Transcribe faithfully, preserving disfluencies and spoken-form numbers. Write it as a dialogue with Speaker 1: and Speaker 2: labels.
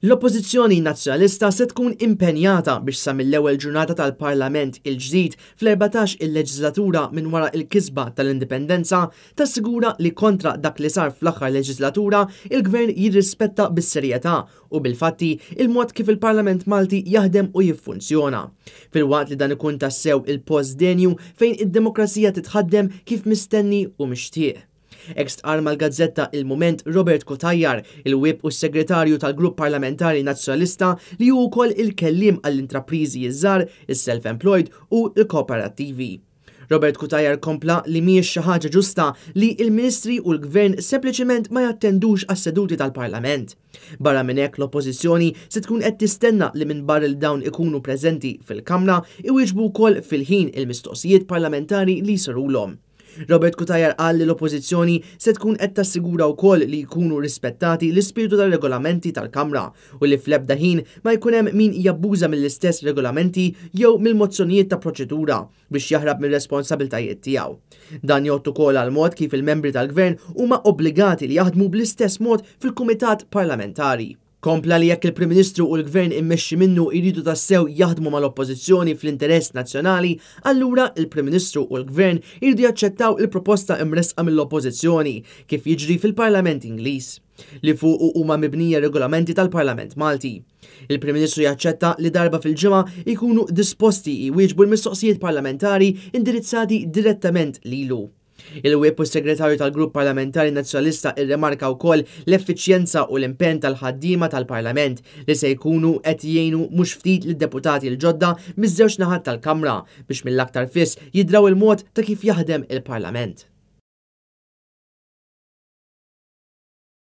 Speaker 1: L-Oppożizzjoni Nazzjonalista se tkun impenjata biex sa mill-ewwel ġurnata tal-Parlament il-ġdid fl-erbatax il-leġislatura minn wara l-kisba tal-Indipendenza tassigura li kontra dak li sar fl-aħħar leġislatura il-Gvern jirrispetta bis-serjetà u bil-fatti il-mod kif il-Parlament Malti jaħdem u jiffunzjona. Filwaqt li dan ikun tassew il-post denju fejn id-demokrazija titħaddem kif mistenni u mixtieq. Hekk stqarr mal-gazzetta Il-Mument Robert Cutajar, il-Whip u s-Segretarju tal-Grupp Parlamentari Nazzjonalista li hu wkoll il-kelliem għall-intrapriżi ż-żgħar, is-self-employed u l-kooperattivi. Robert Cutajar kompla li mhijiex xi ħaġa ġusta li l-Ministri u l-Gvern sempliċement ma jattendux għas-seduti tal-Parlament. Barra minn hekk l-Oppożizzjoni se tkun qed tistenna li minn barra li dawn ikunu preżenti fil-Kamra iwieġbu wkoll fil-ħin il-mistoqsijiet parlamentari li jsirulhom. Robert Cutajar qal li l-Oppożizzjoni se tkun qed tassigura wkoll li jkunu rispettati l-ispirtu tar-regolamenti tal-Kamra u li fl-ebda ħin ma jkun hemm min jabbuża mill-istess regolamenti jew mill-mozzjonijiet ta' proċedura biex jaħrab mir-responsabiltajiet tiegħu. Dan jgħod ukoll għal mod kif il-membri tal-Gvern huma obbligati li jaħdmu bl-istess mod fil-Kumitat Parlamentari. Kompla li jekk il-Prim Ministru u l-Gvern immexxi minnu jridu tassew jaħdmu mal-Oppożizzjoni fl-interess nazzjonali, allura il-Prim Ministru u l-Gvern jridu jaċċettaw il-proposta imressqa mill-Oppożizzjoni kif jiġri fil-Parlament Ingliż, li fuqu huma mibnija regolamenti tal-Parlament Malti. Il-Prim Ministru jaċċetta li darba fil-ġimgħa jkunu disposti jwieġbu l-mistoqsijiet parlamentari indirizzati direttament lilu. Il-Whip u s-Segretarju tal-Grupp Parlamentari Nazzjonalista irremarka wkoll l-effiċjenza u l-impenn tal-ħaddiema tal-Parlament li se jkunu qed jgħinu mhux ftit lid-deputati l-ġodda miż-żewġ naħat tal-Kamra biex mill-aktar fis jidraw il-mod ta' kif jaħdem il-Parlament.